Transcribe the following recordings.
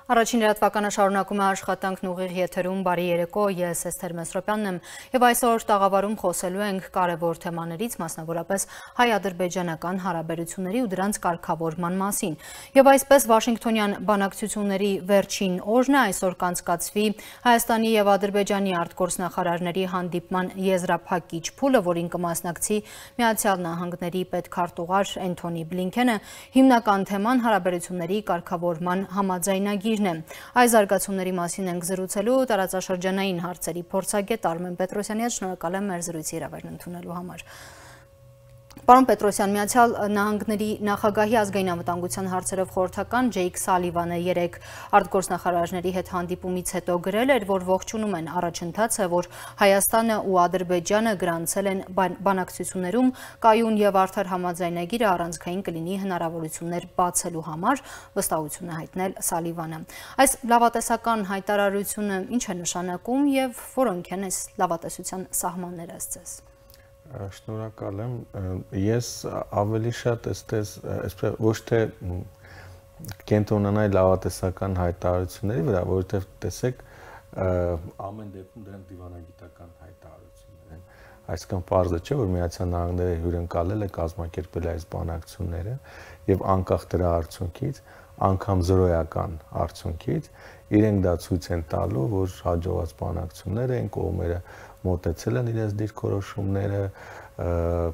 Առաջին լրատվականը շարունակում է աշխատանքն ուղիղ եթերում բարի երեկո, ես Էսթեր Մեսրոպյանն եմ եւ այսօր տաղավարում խոսելու ենք կարևոր թեմաներից, մասնավորապես հայ-ադրբեջանական հարաբերությունների ու դրանց կարգավորման մասին։ Եվ այսպես Վաշինգտոնյան բանակցությունների վերջին օրն է, այսօր կանցկացվի Հայաստանի եւ Ադրբեջանի արտգործնախարարների հանդիպման եզրափակիչ փուլը, որին կմասնակցի Միացյալ Նահանգների պետքարտուղար Էնթոնի Բլինքենը։ Հիմնական թեման հարաբերությունների կարգավորման համաձայնագիր Այս զարգացումների մասին ենք զրուցելու տարածաշրջանային հարցերի փորձագետ Արմեն Պետրոսյանի հետ, շնորհակալ եմ մեր զրույցի հրավերն ընդունելու համար։ Պարոն Պետրոսյան, Միացյալ Նահանգների նախագահի ազգային անվտանգության հարցերով խորհրդական Ջեյք Սալիվանը երեկ արտգործնախարարների հետ հանդիպումից հետո գրել էր, որ ողջունում են առաջընթացը, որ Հայաստանը ու Ադրբեջանը գրանցել են բանակցություններում կայուն եւ արդար համաձայնագիրը առանցքային կլինի հնարավորություններ բացելու համար, վստահություն է հայտնել Սալիվանը։ Այս լավատեսական հայտարարությունը ինչ է նշանակում եւ որոնք են այս լավատեսության սահմանները ըստ Շնորհակալ եմ, ես ավելի շատ ոչ թե կենտրոնանայի լավատեսական հայտարարությունների վրա, որովհետև տեսեք, ամեն դեպքում դրանք դիվանագիտական հայտարարություններ են, այսինքն պարզը չէ, որ Միացյալ Նահանգները հյուրընկալել է, կազմակերպել այս բանակցությունները եւ անկախ դրա արդյունքից, անգամ զրոյական արդյունքից, իրենք դա ցույց են տալու, որ հաջողված բանակցություններ են, կողմերը մոտեցել են իրենց դիրքորոշումները,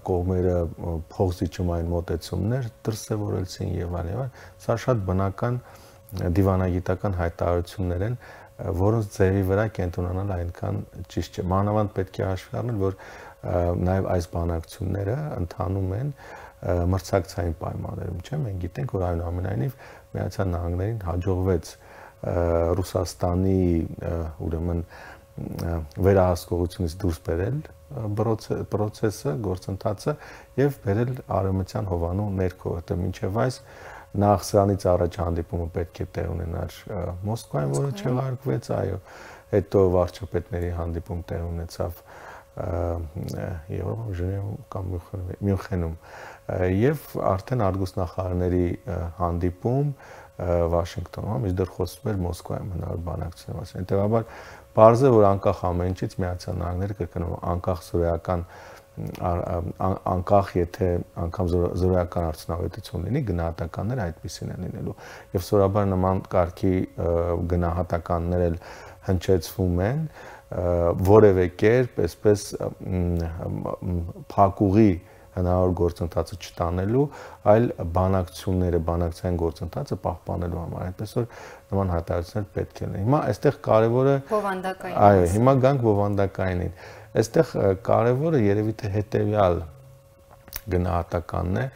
կողմերը փոխզիջումային մոտեցումներ դրսևորեցին եւ այլն, սա շատ բնական դիվանագիտական հայտարարություններ են, որոնց ձևի վրա կենտրոնանալ այնքան ճիշտ չէ։ Մանավանդ պետք է հաշվի առնել, որ նաեւ այս բանակցությունները ընթանում են մրցակցային պայմաններում, չէ՞։ Մենք գիտենք, որ այնուամենայնիվ Միացյալ Նահանգներին հաջողվեց Ռուսաստանի ուրեմն վերահսկողությունից դուրս բերել process-ը, գործընթացը եւ բերել արևմտյան հովանու ներքո, որտեղ մինչեւ այս նախ սրանից առաջ հանդիպումը պետք է տեղ ունենար Մոսկվայում, որը չեղարկվեց, այո, հետո վարչապետների հանդիպում տեղ ունեցավ Եվրոպայում, Ժնևում կամ Մյունխենում եւ արդեն արտգործնախարարների հանդիպում Վաշինգտոնում, մինչդեռ խոսվում էր Մոսկվայում հնարավոր բանակցությունների մասին։ Հետեւաբար պարզ է, որ անկախ ամեն ինչից Միացյալ Նահանգները կրկնում անկախ զորոյական անկախ եթե անգամ զորոյական արդյունավետություն լինի, գնահատականները այդպեսին են լինելու։ Եվ սովորաբար նման կարգի գնահատականներ էլ հնչեցվում են, որևէ կերպ այսպես փակուղի հնարավոր գործընթացը չտանելու, այլ բանակցային գործընթացը պահպանելու համար, այնպես որ նման հայտարարություններ պետք է լինեն։ Հիմա այստեղ կարևորը բովանդակային։ Այո, հիմա գանք բովանդակայինին։ Այստեղ կարևորը երևի թե հետեւյալ գնահատականն է,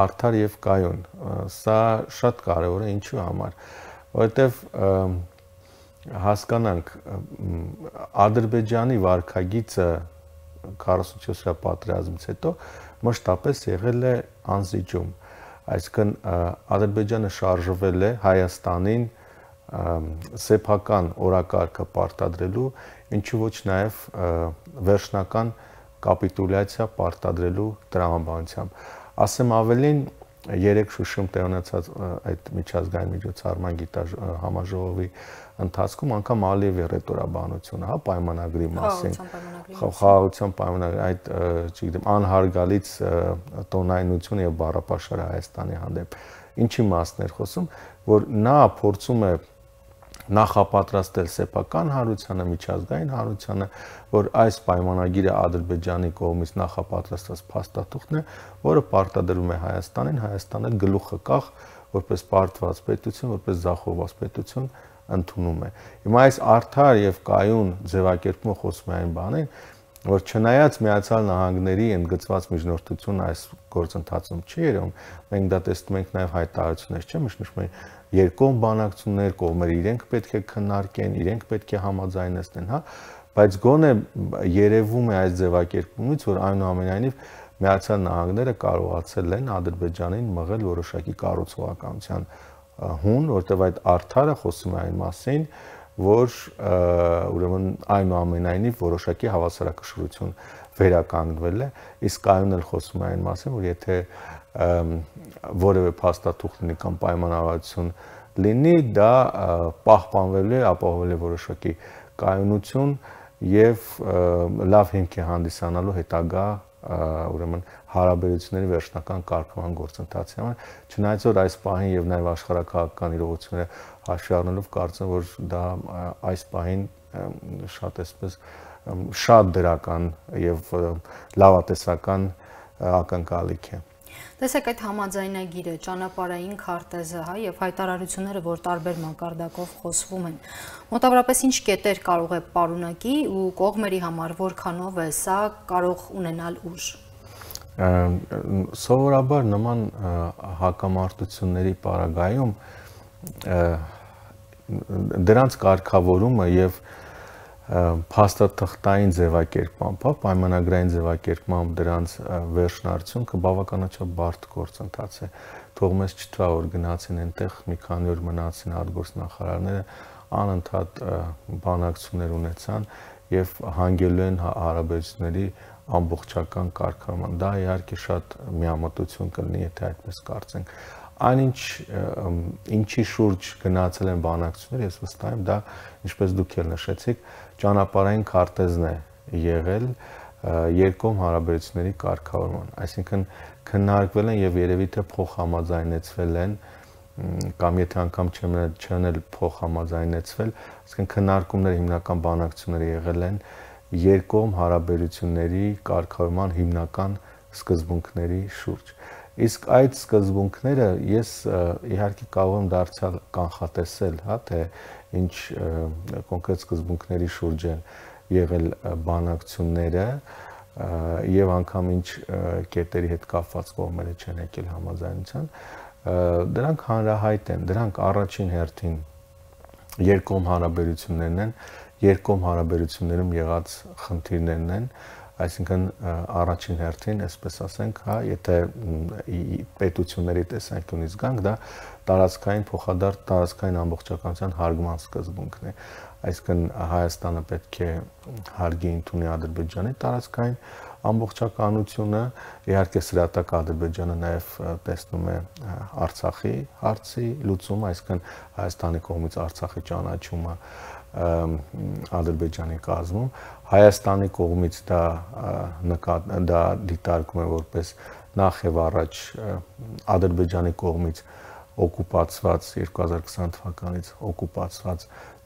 արդար եւ կայուն։ Սա շատ կարևոր է ինչու համար, որովհետեւ հասկանանք Ադրբեջանի վարքագիծը 44-րդ պատերազմից հետո մշտապես եղել է անզիջում, այսինքն Ադրբեջանը շարժվել է Հայաստանին սեփական օրակարգը պարտադրելու, ինչու ոչ նաև վերջնական կապիտուլյացիա պարտադրելու տրամաբանությամբ։ Ասեմ ավելին, երեք Շուշիում տեղ ունեցած այդ միջազգային միջոցառման գիտար համաժողովի ընթացքում անգամ Ալիևի ռետորաբանությունը, հա, պայմանագրի մասին, խաղաղության պայմանագրի, այդ, չգիտեմ, անհարգալից տոնայնություն եւ բառապաշար Հայաստանի հանդեպ։ Ինչի մասն էր խոսում, որ նա փորձում է նախապատրաստել սեփական հանրությանը, միջազգային հանրությանը, որ այս պայմանագիրը Ադրբեջանի կողմից նախապատրաստված փաստաթուղթն է, որը պարտադրում է Հայաստանին, Հայաստանը գլուխը կախ, որպես պարտված պետություն, որպես զախողված պետություն ընդունում է։ Հիմա այս արդար եւ կայուն ձևակերպումը խոսում է այն բանին, որ չնայած Միացյալ Նահանգների ընդգծված միջնորդություն այս գործընթացում չի երևում, մենք դա տեսնում ենք նաեւ հայտարարություններ, չէ՞, միշտ մենք երկկողմ բանակցություններ, կողմերը իրենք պետք է քննարկեն, իրենք պետք է համաձայնեցնեն, հա, բայց գոնե երևում է այս ձևակերպումից, որ այնուամենայնիվ Միացյալ Նահանգները կարողացել են Ադրբեջանին մղել որոշակի կառուցողականության հուն, որտեղ այդ արդարը խոսում է այն մասին, որ ուրեմն այնուամենայնիվ որոշակի հավասարակշռություն վերականգնվել է, իսկ կայուն էլ խոսում է այն մասին, որ եթե որևէ փաստաթուղթ լինի կամ պայմանավորվածություն լինի, դա պահպանվելու է, ապահովելու որոշակի կայունություն եւ լավ հիմք է հանդիսանալու հետագա ուրեմն հարաբերությունների վերջնական կարգման գործընթացի համար, չնայած որ այս պահին եւ նաեւ աշխարհակաղակական իրողությունները հաշվի առնելով կարծեմ որ դա այս պահին շատ դրական եւ լավատեսական ակնկալիք է։ Տեսեք այդ համաձայնագիրը, ճանապարհային քարտեզը, հա, եւ հայտարարությունները, որ տարբեր մակարդակով խոսվում են։ Մոտավորապես ինչ կետեր կարող է պարունակի ու կողմերի համար որքանով է սա կարող ունենալ ուժ։ Սովորաբար նման հակամարտությունների պարագայում դրանց կարգավորումը եւ փաստաթղթային ձևակերպմամբ, պայմանագրային ձևակերպմամբ դրանց վերջնարդյունքը բավականաչափ բարդ գործընթաց է։ Թող մեզ չթվա, որ գնացին այնտեղ մի քանի օր մնացին արտգործնախարարները, անընդհատ բանակցություններ ունեցան եւ հանգելու են հարաբերությունների ամբողջական կարգավորման։ Դա իհարկե շատ միամտություն կլինի, եթե այդպես կարծենք։ Այնինչ ինչի շուրջ գնացել են բանակցությունները, ես վստահ եմ, դա ինչպես դուք էլ նշեցիք, ճանապարհային քարտեզն է եղել երկկողմ հարաբերությունների կարգավորման, այսինքն քննարկվել են եւ երևի թե փոխհամաձայնեցվել են կամ եթե անգամ չեն էլ փոխհամաձայնեցվել, այսինքն քննարկումները հիմնական բանակցությունները եղել են երկկողմ հարաբերությունների կարգավորման հիմնական սկզբունքների շուրջ։ Իսկ այդ սկզբունքները ես իհարկե կարող եմ դարձյալ կանխատեսել, հա, թե ինչ կոնկրետ սկզբունքների շուրջ են եղել բանակցությունները եւ անգամ ինչ կետերի հետ կապված կողմերը չեն եկել համաձայնության, դրանք հանրահայտ են, դրանք առաջին հերթին երկկողմ հարաբերություններն են, երկկողմ հարաբերություններում եղած խնդիրներն են, այսինքն առաջին հերթին, այսպես ասենք, հա, եթե պետությունների տեսանկյունից գանք, դա տարածքային փոխադարձ տարածքային ամբողջականության հարգման սկզբունքն է։ Այսինքն Հայաստանը պետք է հարգի ընդունի Ադրբեջանի տարածքային ամբողջականությունը, իհարկե սրատակ Ադրբեջանը նաև տեսնում է Արցախի հարցի լուծումը, այսինքն Հայաստանի կողմից Արցախի ճանաչումը Ադրբեջանի կազմում, Հայաստանի կողմից դա դիտարկում է որպես նախ եւ առաջ Ադրբեջանի կողմից օկուպացված 2020 թվականից օկուպացված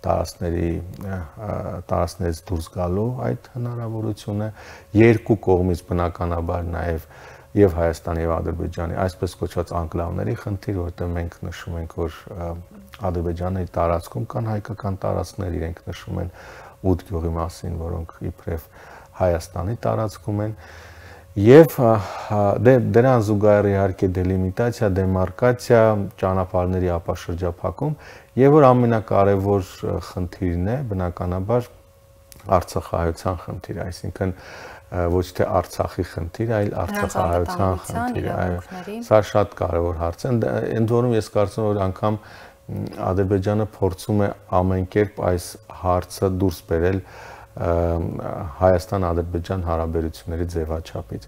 տարածքներից դուրս գալու այդ հնարավորությունը, երկու կողմից բնականաբար նաև եւ Հայաստանի եւ Ադրբեջանի այսպես կոչված անկլավների խնդիր, որտեղ մենք նշում ենք, որ Ադրբեջանի տարածքում կան հայկական տարածքներ, իրենք նշում են 8 գյուղի մասին, որոնք իբրև Հայաստանի տարածքում են, եւ դրան զուգահեռ իհարկե դելիմիտացիա, դեմարկացիա, ճանապարհների ապաշրջափակում, եւ որ ամենակարևոր խնդիրն է, բնականաբար Արցախահայության խնդիրը, այսինքն ոչ թե Արցախի խնդիր, այլ Արցախահայության խնդիրը։ Սա շատ կարևոր հարց է, ընդ որում ես կարծում եմ, որ անգամ Ադրբեջանը փորձում է ամեն կերպ այս հարցը դուրս բերել Հայաստան-Ադրբեջան հարաբերությունների ձևաչափից։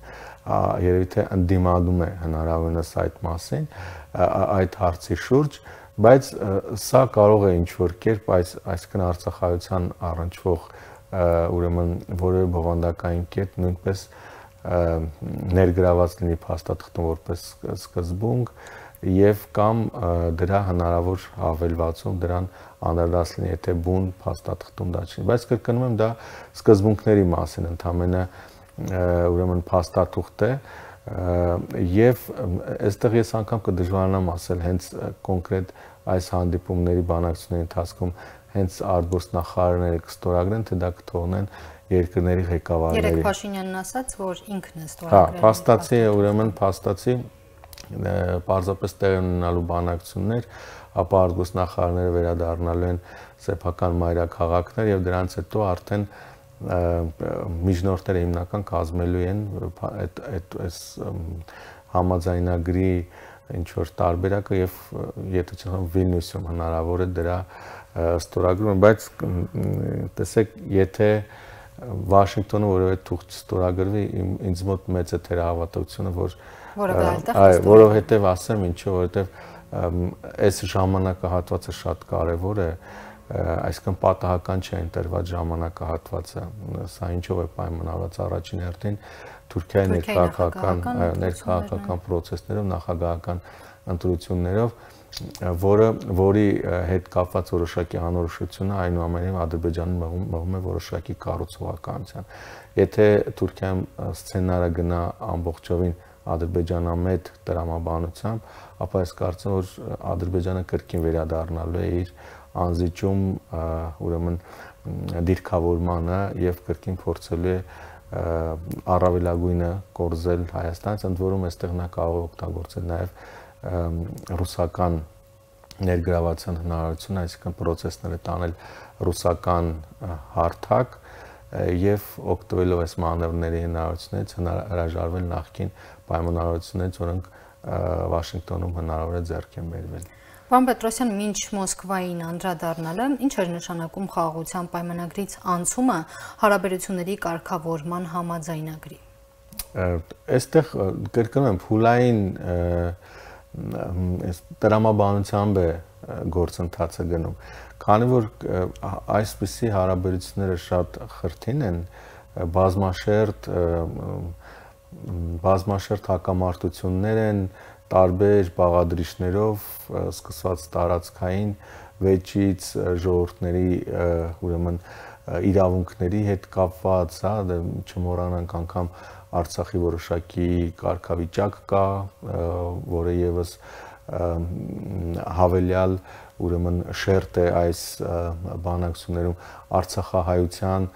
Երևի թե ընդդիմանում է հնարավորինս այդ մասին, այդ հարցի շուրջ, բայց սա կարող է ինչ-որ կերպ այսինքն Արցախահայության առնչվող ուրեմն որևէ բովանդակային կետ նույնպես ներգրաված լինի փաստաթղթում որպես սկզբունք եւ կամ դրա հնարավոր հավելվածում դրան անդրադարձ լինի, եթե բուն փաստաթղթում դա չի, բայց կրկնում եմ, դա սկզբունքների մասին ընդհանրապես ուրեմն փաստաթուղթ է եւ այստեղ ես անգամ կդժվարանամ ասել հենց կոնկրետ այս հանդիպումների բանակցությունների ընթացքում հենց արտգործնախարարները կստորագրեն, թե դա կթողնեն երկրների ղեկավարների։ Երեք Փաշինյանն ասաց, որ ինքն է ստորագրել։ Հա, փաստացի է, ուրեմն փաստացի պարզապես տեղ ունենալու բանակցություններ, ապա արտգործնախարարները վերադառնալու են սեփական մայրաքաղաքներ եւ դրանց հետո արդեն միջնորդները հիմնական կազմելու են այս համաձայնագրի ինչ որ տարբերակը եւ եթե չեմ Վիլնյուսում հնարավոր է դրա ստորագրումը, բայց տեսեք, եթե Վաշինգտոնը որևէ թուղթ ստորագրվի, ինձ մոտ մեծ է թերահավատությունը, որ որովհետեւ ասեմ ինչու, որովհետեւ այս ժամանակահատվածը շատ կարևոր է, այսինքն պատահական չէ ընտրված ժամանակահատվածը, սա ինչով է պայմանավորված առաջին հերթին Թուրքիայի ներքաղաքական պրոցեսներով, նախագահական ընտրություններով, որի հետ կապված որոշակի անորոշությունը այնուամենայնիվ Ադրբեջանին մղում է որոշակի կառուցողականության։ Եթե Թուրքիայում սցենարը գնա ամբողջովին ադրբեջանամետ տրամաբանությամբ, ապա ես կարծում որ Ադրբեջանը կրկին վերադառնալու է իր անզիջում ուրեմն դիրքավորմանը եւ կրկին փորձելու է առավելագույնը կորզել Հայաստանից, ընդ որում այստեղ նա կարող է օգտագործել նաեւ ռուսական ներգրավվածության հնարավորություն, այսինքն պրոցեսները տանել ռուսական հարթակ եւ օգտվելով այս մանևրների հնարավորությունից հրաժարվել նախկին պայմանավորություններից, որոնք Վաշինգտոնում հնարավոր է ձեռք են բերվել։ Պարոն Պետրոսյան, մինչ Մոսկվային անդրադառնալը, ինչ էր նշանակում խաղաղության պայմանագրից անցումը հարաբերությունների կարգավորման համաձայնագրի։ Այստեղ կրկնում եմ, փուլային տրամաբանությամբ է գործընթացը գնում, քանի որ այսպիսի հարաբերությունները շատ խրթին են, բազմաշերտ հակամարտություններ են տարբեր բաղադրիչներով, սկսված տարածքային վեճից, ժողովուրդների ուրեմն իրավունքների հետ կապված, չմոռանանք անգամ Արցախի որոշակի կարգավիճակ կա, որը եւս հավելյալ ուրեմն շերտ է այս բանակցություններում արցախահայության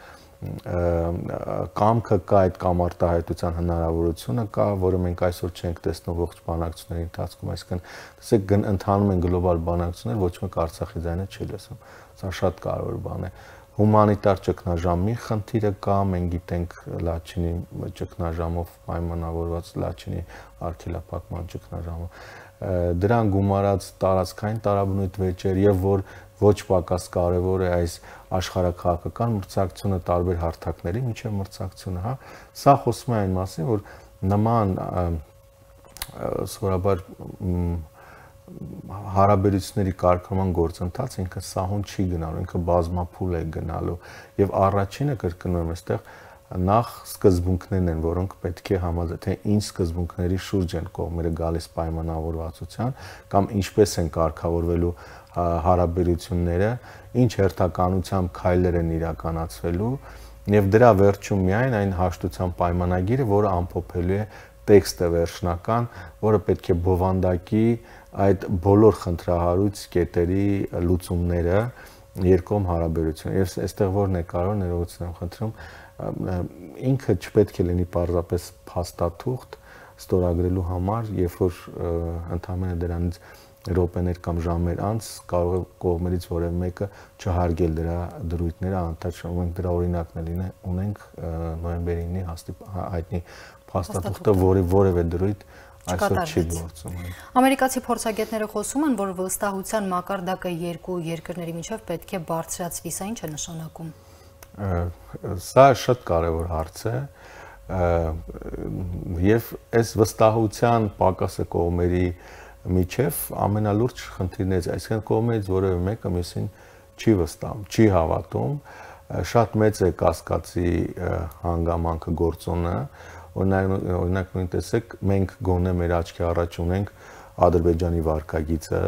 կամքը կա, այդ կամ արտահայտության հնարավորությունը կա, որը մենք այսօր չենք տեսնում ողջ բանակցությունների ընթացքում, այսինքն տեսեք ընթանում են գլոբալ բանակցություններ, ոչ մեկ Արցախի ձայնը չի լսում, սա շատ կարևոր բան է։ Հումանիտար ճգնաժամի խնդիրը կա, մենք գիտենք Լաչինի ճգնաժամով պայմանավորված Լաչինի արգելափակման ճգնաժամը, դրան գումարած տարածքային տարաբնույթ վեճեր եւ որ ոչ պակաս կարևոր է այս աշխարհաքաղաքական մրցակցությունը տարբեր հարթակների միջև մրցակցությունը, հա, սա խոսում է այն մասին, որ նման սովորաբար հարաբերությունների կարգավորման գործընթաց ինքը սահուն չի գնալու, ինքը բազմափուլ է գնալու եւ առաջինը կրկնում եմ այստեղ նախ սկզբունքներն են, որոնք պետք է համաձայն, թե ինչ սկզբունքների շուրջ են կողմերը գալիս պայմանավորվածության կամ ինչպես են կարգավորվելու հարաբերությունները, ինչ հերթականությամբ քայլեր են իրականացվելու եւ դրա վերջում միայն այն հաշտության պայմանագիրը, որը ամփոփելու է տեքստը վերջնական, որը պետք է բովանդակի այդ բոլոր խնդրահարույց կետերի լուծումները երկկողմ հարաբերություն։ Եվ այստեղ որն է կարող ներողություն եմ խնդրում, ինքը չպետք է լինի պարզապես փաստաթուղթ ստորագրելու համար, երբ որ ընդհանրապես դրանից րոպեներ կամ ժամեր անց կարող է կողմերից որևէ մեկը չհարգել դրա դրույթները, անընդհատ մենք դրա օրինակն ունենք նոյեմբերի 9-ի հայտնի փաստաթուղթը, որի որևէ դրույթ այսօր չի գործում։ Ամերիկացի փորձագետները խոսում են, որ վստահության մակարդակը երկու երկրների միջև պետք է բարձրացվի, սա ինչ է նշանակում։ Սա շատ կարևոր հարց է եւ այս վստահության պակասը կողմերի միջև ամենալուրջ խնդիրներից, այսինքն կողմերից որևէ մեկը մյուսին չի վստահում, չի հավատում, շատ մեծ է կասկածի հանգամանքը գործոնը, օրինակ նույն տեսեք, մենք գոնե մեր աչքի առաջ ունենք Ադրբեջանի վարքագիծը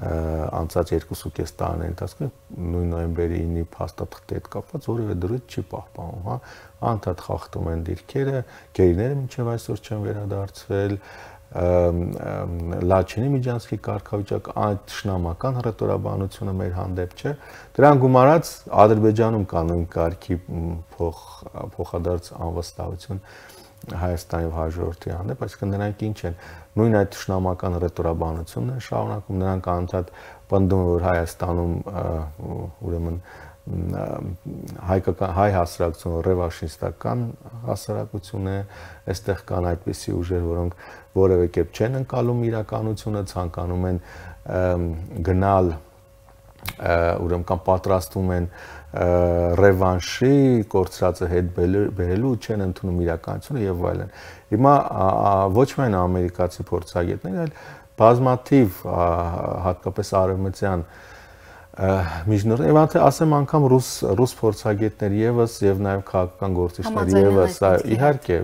անցած 2.5 տարիների ընթացքում նույն նոյեմբերի 9-ի փաստաթղթի հետ կապված որևէ դրույթ չի պահպանում, հա, անընդհատ խախտում են դիրքերը, գերիները մինչև այսօր չեն վերադարձվել, Լաչինի միջանցքի կարգավիճակ, այդ շնամական հռետորաբանությունը մեր հանդեպ չէ, դրան գումարած Ադրբեջանում կա նույն կարգի փոխադարձ անվստահություն Հայաստանի եւ հաջորդի հանդեպ, այսինքն նրանք ինչ են, նույն այդ շնամական հռետորաբանությունն են շարունակում, նրանք անընդհատ պնդում են, որ Հայաստանում ուրեմն հայ հասարակությունը ռևանշիստական հասարակություն է, այստեղ կան այդպիսի ուժեր, որոնք որևէ կերպ չեն ընկալում իրականությունը, ցանկանում են գնալ ուրեմն կամ պատրաստվում են ռևանշի կորցրածը հետ բերելու, չեն ընդունում իրականությունը եւ այլն։ Հիմա ոչ միայն ամերիկացի փորձագետներ, այլ բազմաթիվ հատկապես արևմտյան միջնորդ եւ անթե ասեմ անգամ ռուս փորձագետներ եւս եւ նաեւ քաղաքական գործիչներ եւս իհարկե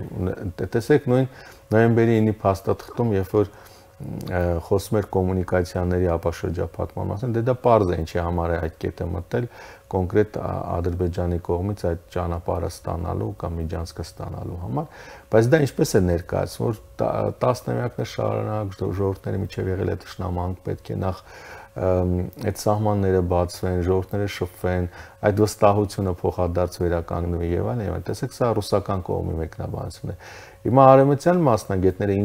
տեսեք նույն նոյեմբերի 9-ի փաստաթղթում երբ որ խոսում էր կոմունիկացիաների ապաշրջափակման մասին դա պարզ է ինչի համար է այդ կետը մտել կոնկրետ Ադրբեջանի կողմից այդ ճանապարհը ստանալու կամ միջանցքը ստանալու համար բայց դա ինչպես է ներկայացվում որ տասնամյակներ շարունակ ժողովուրդների միջև եղել է ճշնամանք պետք է նախ այդ սահմանները բացվեն, ժողովուրդները շփվեն, այդ վստահությունը փոխադարձ վերականգնվի եւ այլն, տեսեք, սա ռուսական կողմի մեկնաբանությունն է։ Հիմա արևմտյան մասնագետները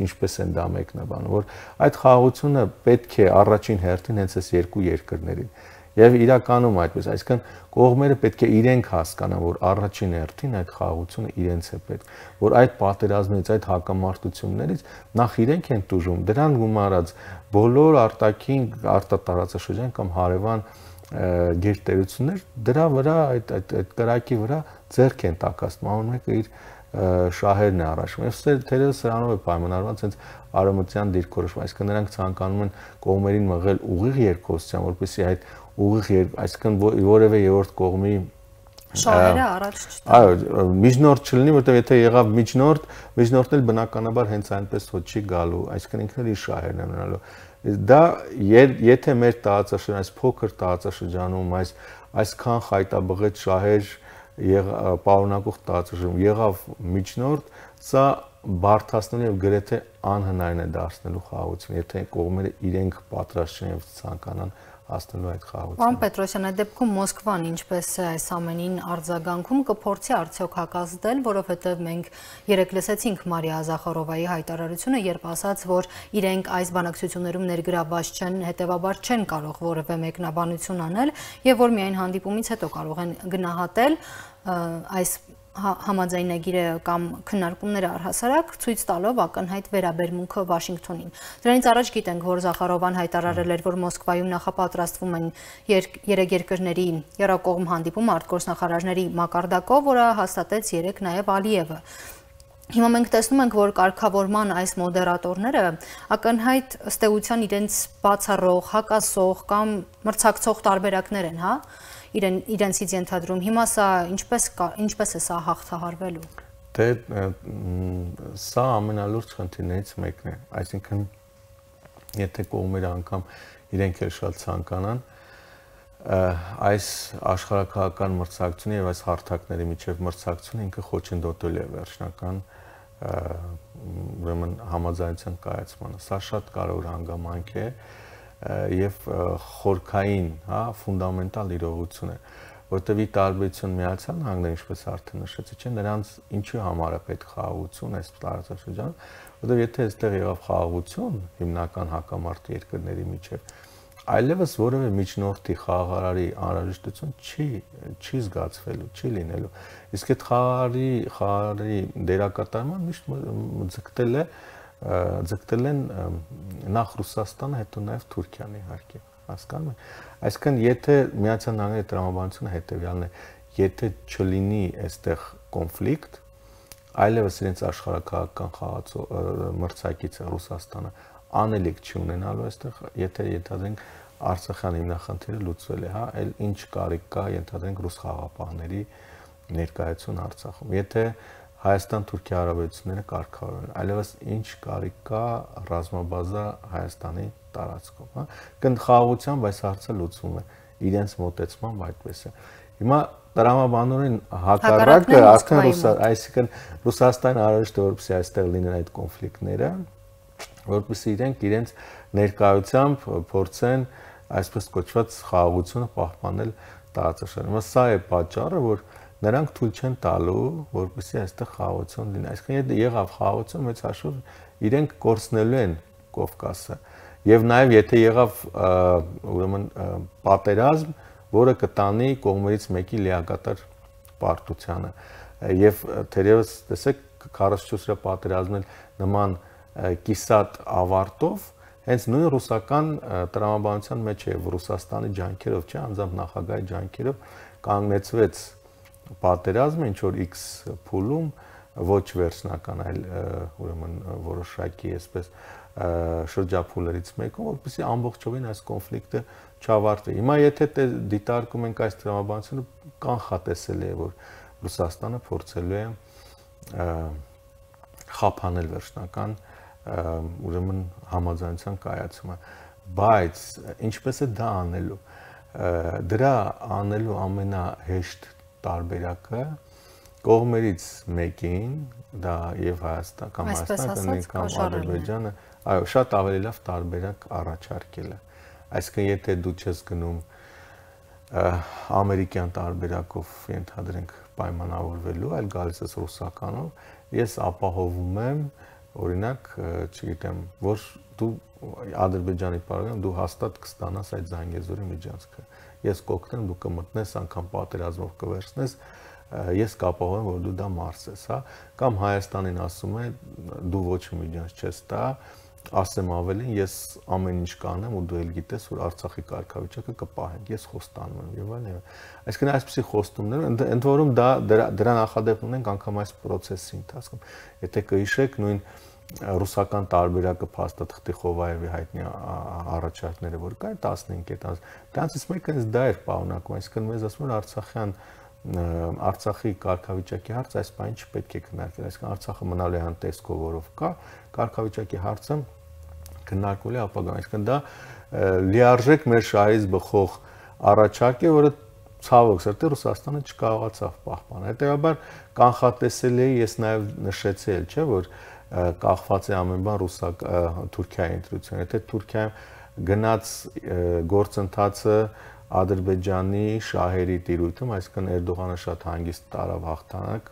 ինչպես են դա մեկնաբանում, որ այդ խաղաղությունը պետք է առաջին հերթին հենց այս երկու երկրներին եւ իրականում այդպես, այսինքն կողմերը պետք է իրենք հասկանան, որ առաջին հերթին այդ խաղաղությունը իրենց է պետք, որ այդ պատերազմներից, այդ հակամարտություններից նախ իրենք են տուժում, դրան գումարած բոլոր արտաքին արտատարածաշրջան կամ հարևան գերտերություններ դրա վրա այդ կրակի վրա ձեռք են տակասում, ամեն մեկը իր շահերն է առաջում։ Եվ թերևս սրանով է պայմանավորված հենց արևմտյան դիրքորոշումը, այսինքն նրանք ցանկանում են կողմերին մղել ուղիղ երկխոսության, որպեսզի այդ ուղիղ այսինքն որևէ երրորդ կողմի շահերը առաջ չտան։ Այո, միջնորդ չլինի, որտեղ եթե եղավ միջնորդն էլ բնականաբար հենց այնպես ոչ չի գալու, այսինքն ինքն էլ իր շահերն է ունենալու։ Դա եթե մեր տարածաշրջան, այս փոքր տարածաշրջանում այսքան խայտաբղետ շահեր պարունակող տարածաշրջանում եղավ միջնորդ, սա բարդացնելու եւ գրեթե անհնարին է դարձնելու խաղաղություն, եթե կողմերը իրենք պատրաստ չեն եւ ցանկանան հասնելու այդ խաղաղության։ Պարոն Պետրոսյան, այդ դեպքում Մոսկվան ինչպես է այս ամենին արձագանքում կփորձի արդյոք հակազդել, որովհետև մենք երեք լսեցինք Մարիա Զախարովայի հայտարարությունը, երբ ասաց, որ իրենք այս բանակցություններում ներգրավված չեն, հետևաբար չեն կարող որևէ մեկնաբանություն անել եւ որ միայն հանդիպումից հետո կարող են գնահատել այս համաձայնագիրը կամ քննարկումները առհասարակ ցույց տալով ակնհայտ վերաբերմունքը Վաշինգտոնին։ Դրանից առաջ գիտենք, որ Զախարովան հայտարարել էր, որ Մոսկվայում նախապատրաստվում են երեք երկրների եռակողմ հանդիպում արտգործնախարարների մակարդակով, որը հաստատեց երեք նաև Ալիևը։ Հիմա մենք տեսնում ենք, որ կարգավորման այս մոդերատորները ակնհայտ ըստ էության իրենց բացառող, հակասող կամ մրցակցող տարբերակներ են, հա, իրենցից ենթադրում։ Հիմա սա ինչպես է սա հաղթահարվելու։ Դե սա ամենալուրջ խնդիրներից մեկն է, այսինքն եթե կողմերը անգամ իրենք էլ շատ ցանկանան այս աշխարհակահաղական մրցակցությունը եւ այս հարթակների միջև մրցակցությունը ինքը խոչընդոտել է վերջնական ուրեմն համաձայնության կայացմանը։ Սա շատ կարևոր հանգամանք է եւ խորքային, հա, ֆունդամենտալ իրողություն է, որտեղ ի տարբերություն Միացյալ Նահանգների, ինչպես արդեն նշեցի, չէ, նրանց ինչու համար է պետք խաղաղություն այս տարածաշրջանում, որտեղ եթե այստեղ եղավ խաղաղություն հիմնական հակամարտ երկրների միջև, այլևս որևէ միջնորդի խաղաղարարի անհրաժեշտություն չի զգացվելու, չի լինելու։ Իսկ այդ խաղաղարի դերակատարման միշտ ձգտել են նախ Ռուսաստանը, հետո նաև Թուրքիան իհարկե, հասկանում եք։ Այսինքն եթե Միացյալ Նահանգների տրամաբանությունը հետևյալն է, եթե չլինի այստեղ կոնֆլիկտ, այլևս իրենց աշխարհակահաղական մրցակիցը Ռուսաստանը անելիք չի ունենալու այստեղ, եթե ենթադրենք Արցախյան հիմնախնդիրը լուծվել է, հա, այլ ինչ կարիք կա ենթադրենք ռուս խաղաղապահների ներկայություն Արցախում։ Եթե Հայաստան-Թուրքիա հարաբերությունները կարգավորեն, այլևս ինչ կարիք կա ռազմաբազա Հայաստանի տարածքում, հա։ Խաղաղությամբ այս հարցը լուծվում է, իրենց մոտեցմամբ այդպես է։ Հիմա տրամաբանորեն հակառակը արդեն այսինքն Ռուսաստանը անհրաժեշտ է որպեսզի այստեղ լինեն այդ կոնֆլիկտները, որպեսզի իրենց ներկայությամբ փորձեն այսպես կոչված խաղաղությունը պահպանել տարածաշրջանում։ Սա է պատճառը, որ նրանք թույլ չեն տալու, որպեսզի այստեղ խաղաղություն լինի։ Այսինքն եթե եղավ խաղաղություն, մեծ հաշվով իրենք կորցնելու են Կովկասը։ Եվ նաև եթե եղավ ուրեմն պատերազմ, որը կտանի կողմերից մեկի լիակատար պարտությանը։ Եվ թերևս տեսեք 44-րդ պատերազմն նման կիսատ ավարտով հենց նույն ռուսական տրամաբանության մեջ է Ռուսաստանի ջանքերով, չէ, անձամբ նախագահի ջանքերով կանգնեցվեց պատերազմը ինչ որ X փուլում ոչ վերջնական, այլ ուրեմն որոշակի այսպես շրջափուլերից մեկում, որպեսզի ամբողջովին այս կոնֆլիկտը չավարտվի։ Հիմա եթե դիտարկում ենք այս տրամաբանությունը, կանխատեսելի է, որ Ռուսաստանը փորձելու է խափանել վերջնական ուրեմն համաձայնության կայացումը, բայց ինչպես է դա անելու։ Դրա անելու ամենահեշտ տարբերակը կողմերից մեկին, դա եւ Հայաստան կամ Հայաստանը կամ Ադրբեջանը, այո, շատ ավելի լավ տարբերակ առաջարկելը։ Այսինքն եթե դու չես գնում ամերիկյան տարբերակով ենթադրենք պայմանավորվելու, այլ գալիս ես ռուսականով, ես ապահովում եմ, օրինակ, չգիտեմ, որ դու Ադրբեջանի պարագայում դու հաստատ կստանաս այդ Զանգեզուրի միջանցքը։ Ես կօգնեմ, դու կմտնես, անգամ պատերազմով կվերցնես, ես կապահովեմ, որ դու դա մարսես, հա, կամ Հայաստանին ասում է, դու ոչ մի միջանց չես տա, ասեմ ավելին, ես ամեն ինչ կանեմ ու դու էլ գիտես, որ Արցախի կարգավիճակը կպահենք, ես խոստանում եմ եւ այլն։ Այսինքն այսպիսի խոստումներ, ընդ որում դրա նախադեպ ունենք անգամ այս process-ի ընթացքում։ Եթե կհիշեք, նույն ռուսական տարբերակը փաստաթղթի Խովայևի հայտնի առաջարկները, որ կային 15 դրանցից մեկը հենց դա էր պարունակում, այսինքն մեզ ասում են Արցախի կարգավիճակի հարցը այս բանը չպետք է քննարկել, այսինքն Արցախը մնալու է անտեսկով, որով կա, կարգավիճակի հարցը քննարկվել է ապագայում, այսինքն դա լիարժեք մեր շահից բխող առաջարկ է, որը ցավոք սրտի Ռուսաստանը չկարողացավ պահպանել։ Հետևաբար կանխատեսելի է, ես նաև նշեցի էլ, չէ, որ կախված է ամեն բան Թուրքիայի ընտրությունից։ Եթե Թուրքիայում գնաց գործընթացը Ադրբեջանի շահերի տիրույթում, այսինքն Էրդողանը շատ հանգիստ տարավ հաղթանակ,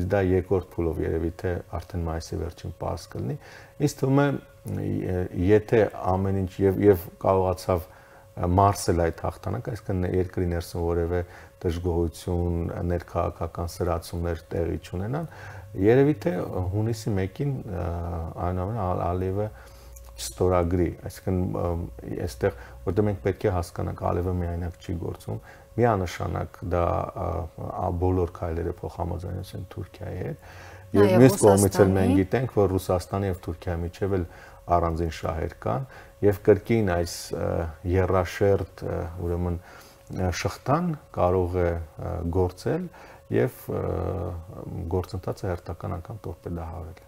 իսկ դա երկրորդ փուլով երևի թե արդեն մայիսի վերջին պարզ կլինի։ Ինձ թվում է, եթե ամեն ինչ եւ կարողացավ մարսել այդ հաղթանակը, այսինքն երկրի ներսում որևէ դժգոհություն, ներքաղաքական սրացումներ տեղի չունենան, երևի թե հունիսի 1-ին այնուամենայնիվ Ալիևը ստորագրի, այսինքն այստեղ որտեղ մենք պետք է հասկանանք, Ալիևը միայնակ չի գործում, միանշանակ դա բոլոր քայլերը փոխհամաձայնություն Թուրքիայի հետ, եւ մյուս կողմից էլ մենք գիտենք, որ Ռուսաստանի եւ Թուրքիայի միջեւ էլ առանձին շահեր կան եւ կրկին այս երաշերտ ուրեմն շղթան կարող է գործել եւ գործընթացը հերթական անգամ տորպեդահարել։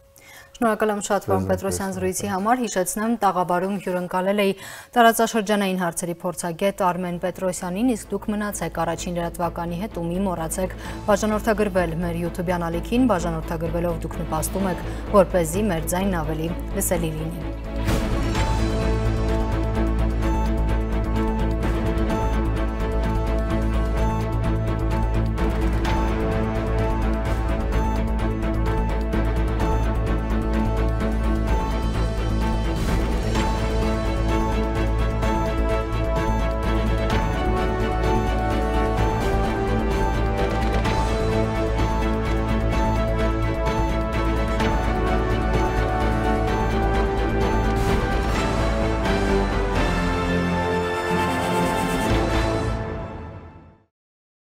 Շնորհակալ եմ շատ պարոն Պետրոսյան զրույցի համար, հիշեցնեմ տաղավարում հյուրընկալել էի տարածաշրջանային հարցերի փորձագետ Արմեն Պետրոսյանին, իսկ դուք մնացեք առաջին լրատվականի հետ ու մի մոռացեք բաժանորդագրվել մեր YouTube-յան ալիքին, բաժանորդագրվելով դուք նպաստում եք, որպեսզի մեր ձայնն ավելի լսելի լինի։